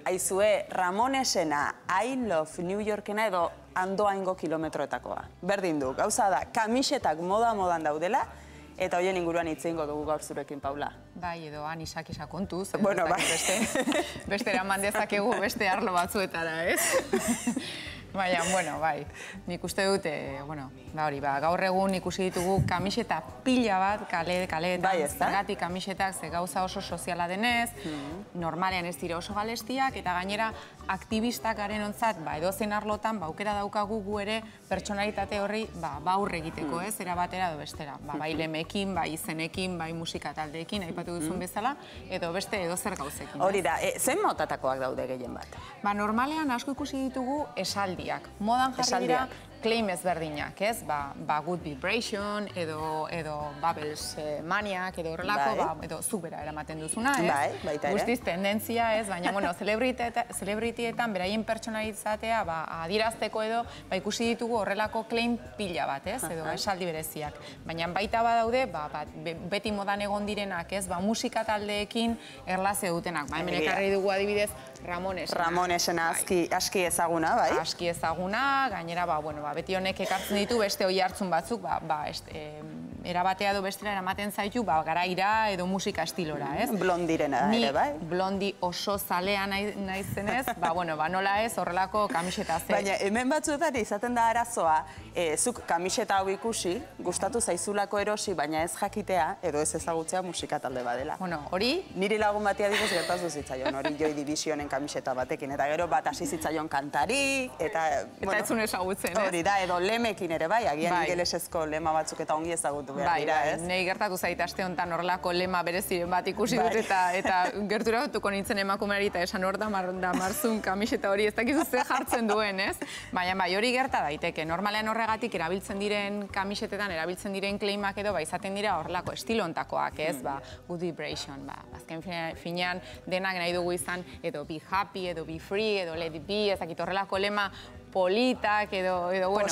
Aizue, Ramonesena, I love New Yorkena edo andoaingo kilometroetakoa. Berdin du, gauza da, kamisetak modan daudela, eta hoien inguruan itzingo dugu gaur zurekin, Paula. Bai, edo anisak kontuz. Bueno, bai. Beste eraman dezakegu beste arlo batzuetara, ez? Baina, bueno, bai, nik uste dute, gaur egun ikusi ditugu kamiseta pila bat kaleetan, zergatik kamisetak ze gauza oso soziala denez, normalean ez dira oso galestiak, eta gainera aktivistak garen ontzat, edozein arlotan, aukera daukagu gu ere pertsonalitate horri aurre egiteko, ez, era batera edo bestera. Bai lemekin, bai izenekin, bai musika taldeekin, aipatu duzun bezala, edo beste edozer gauzekin. Hori da, zen motatakoak daude gehien bat? Normalean asko ikusi ditugu esaldi. Modan jarri dira claim ezberdinak, ez? Good Vibration, edo Bubbles Maniac, edo horrelako, edo zubera eramaten duzuna, ez? Baita ere. Guztiz tendentzia, ez? Baina, celebritietan beraien pertsonalizatea adirazteko edo ikusi ditugu horrelako claim pila bat, ez? Edo esaldi bereziak. Baina baita badaude, beti modan egon direnak, ez? Musika taldeekin erlazio dutenak. Hemen ekarri dugu adibidez Ramonesena. Ramonesena aski ezaguna, bai? Aski ezaguna, gainera, beti honek ekartzen ditu beste oi hartzun batzuk, erabatea edo bestera eramaten zaitu, garaira edo musika estilora, ez? Blondirena ere, bai? Ni blondi oso zalea naizenez, nola ez horrelako kamiseta ze. Baina, hemen batzuetan izaten da arazoa, zuk kamiseta hau ikusi, gustatu zaizulako erosi, baina ez jakitea, edo ez ezagutzea musika talde badela. Hori? Niri lagun batia dibuz gertazu zitzaion, hori Joy Divisionen kamiseta batekin, eta gero bat hasi zitzaion kantari, eta... Eta ez zuen ezagutzen, ez? Hori da, edo lemekin ere, bai, agian ingelesezko lema batzuk eta ongi ezagutu behar dira, ez? Nei gertatu zait aste honetan horrelako lema bereziren bat ikusi dut eta gerturatuko nintzen emakumeari eta esan hor da marzun kamiseta hori ez dakizu ze jartzen duen, ez? Baina hori gerta daiteke. Normalean horregatik erabiltzen diren kamisetetan, erabiltzen diren claimak edo izaten dira horrelako estilo ontakoak, ez? Good Vibration, azken finean denak nahi dugu izan edo be happy, edo be free, edo let it be, ez dakit horrelako lema politak edo, bueno...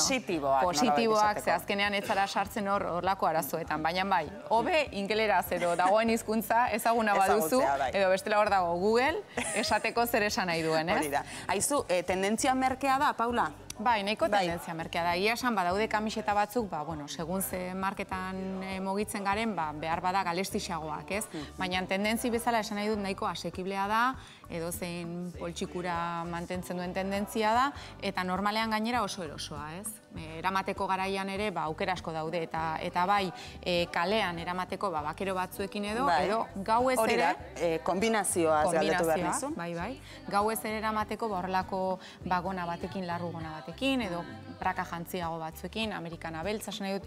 Positiboak, ze azkenean ez zara sartzen horlako arazoetan. Baina bai, hobe ingeleraz edo dagoen hizkuntza ezaguna baduzu, edo bestela hor dago Google, esateko zer esan nahi duen, ez? Hori da. Aizu, tendentzia merkea da, Paula? Bai, nahiko tendentzia merkea da. Ia esan badaude kamiseta batzuk, segun ze marketan mugitzen garen, behar bada galestixagoak, ez? Baina tendentzi bezala esan nahi dut nahiko asekiblea da, edo zein poltsikura mantentzen duen tendentzia da, eta normalean gainera oso erosoa, ez? Eramateko garaian ere, aukera asko daude, eta bai, kalean eramateko bakero batzuekin edo gau ez ere... Hori da, kombinazioa galdetu behar nizu. Bai, gau ez ere eramateko horrelako gona batekin, larru gona batekin, edo praka jantziago batzuekin, amerikana beltza, esan nahi dut,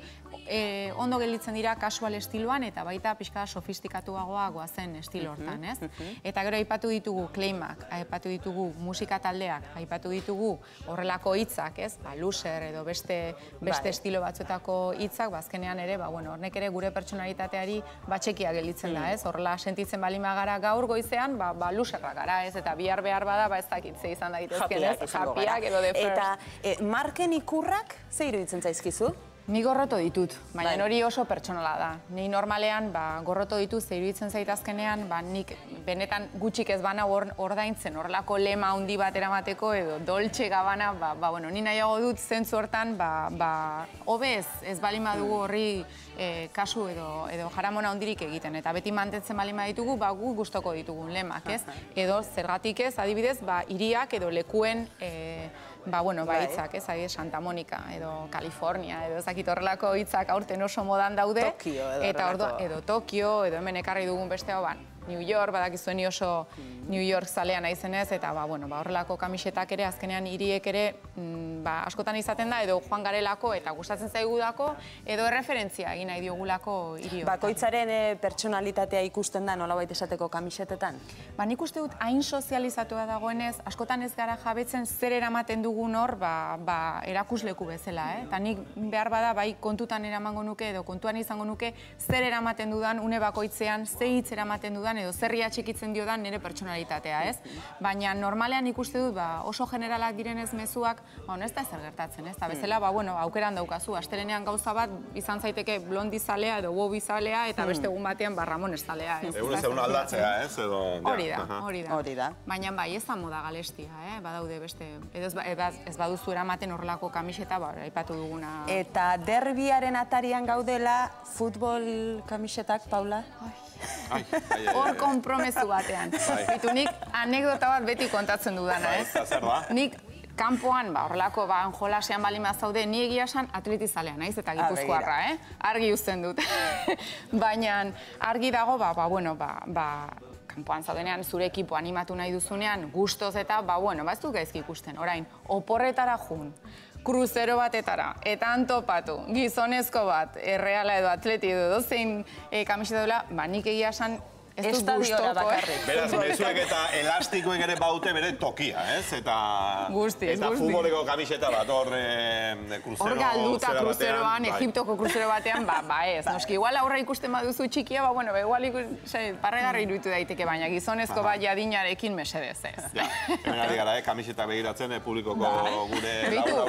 ondo gelditzen dira kasual estiloan, eta baita pixka sofistikatuagoa goazen estilo hortan, ez? Eta gero aipatu ditugu claimak, aipatu ditugu musika taldeak, aipatu ditugu horrelako hitzak, ez? Loser edo beste estilo batzuetako hitzak, azkenean ere, hornek ere gure pertsonalitateari txekia gelditzen da, ez? Horrela sentitzen balima gara gaur goizean, loserra gara, ez? Eta bihar behar bada, ez dakitze izan daitezken, ez? Happyak edo the first. Eta marken ikurrak, ze iruditzen zaizkizu? Ni gorroto ditut, baina hori oso pertsonala da. Ni normalean gorroto ditut, ze iruditzen zait azkenean, nik benetan gutxik ez bana ordaintzen, horrelako lema handi bat eramateko, edo Dolce Gabbana, ni nahiago dut zentzu hortan, hobez ez balin badugu horri kasu edo jaramona handirik egiten, eta beti mantentzen balin baditugu, gu gustoko ditugun lemak, ez? Edo zergatik ez, adibidez, hiriak edo lekuen hitzak, ez, Santa Monica, edo California, edo ezakit horrelako hitzak aurten oso modan daude. Tokio edo Tokio, edo hemen ekarri dugun beste hau, New York, badakizuen oso New York zalea naizenez, eta horrelako kamisetak ere, azkenean hiriek ere askotan izaten da, edo joan garelako eta gustatzen zaigudako, edo erreferentzia egin nahi diogulako hiri horretan. Bakoitzaren pertsonalitatea ikusten da nolabait esateko kamisetetan? Nik uste dut hain sozializatua dagoenez, askotan ez gara jabetzen zer eramaten dugun hor erakusleku bezala, eta nik behar bada bai kontutan eramango nuke edo kontuan izango nuke zer eramaten dudan une bakoitzean, ze hitz eramaten dudan dan, edo zerria txikitzen dio dan nire pertsonalitatea, ez? Baina normalean ikuste dut, oso generalak direnez mezuak, ez da ezer gertatzen, ez? Eta bezala, aukeran daukazu, astelenean gauza bat, izan zaiteke blondi zalea edo bobi zalea, eta beste egun batean Ramon zalea, ez? Egun aldatzea, ez? Hori da. Baina bai, ez da moda galestia, badaude beste, edo ez baduzu eramaten horrelako kamiseta, aipatu duguna. Eta derbiaren atarian gaudela, futbol kamisetak, Paula? Hor konpromezu batean. Bitu, nik anekdota bat beti kontatzen dudana, ez? Nik kanpoan, horrelako jolasean bali mazaude, ni egia esan atletizalea naiz eta Gipuzkoarra, argi uzten dut. Baina argi dago, kanpoan zaudenean zure ekipo animatu nahi duzunean, gustoz eta, ez du gaizki ikusten. Orain, oporretara jun, kruzero batetara, eta antopatu, gizonezko bat, erreala edo atleti edo dozein kamiseta dela, nik egia esan ez dut gustoko. Beraz, mezuek eta elastikoek ere baute bere tokia, ez? Eta futboleko kamiseta bat, hor kruzero... Hor galduta kruzeroan, Egiptoko kruzero batean, ez. Noski, igual aurra ikusten baduzu txikia, igual parregarri iruditu daiteke, baina gizonezko bat jadinarekin mesedez, ez. Ja, hemen ari gara, kamiseta begiratzen, publikoko gure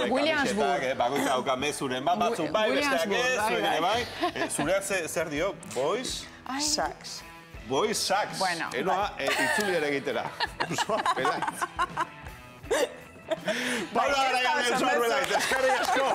Williamsburg. Bakoitza hauka mezuren bat, batzuk bai, besteak ez, zuek ere bai. Zureak zer dio, boys? Saks. Boys Saks. Enoa, itzuli ere egitera. Ursoa, pelaitz. Paula, gara, eskerrik asko.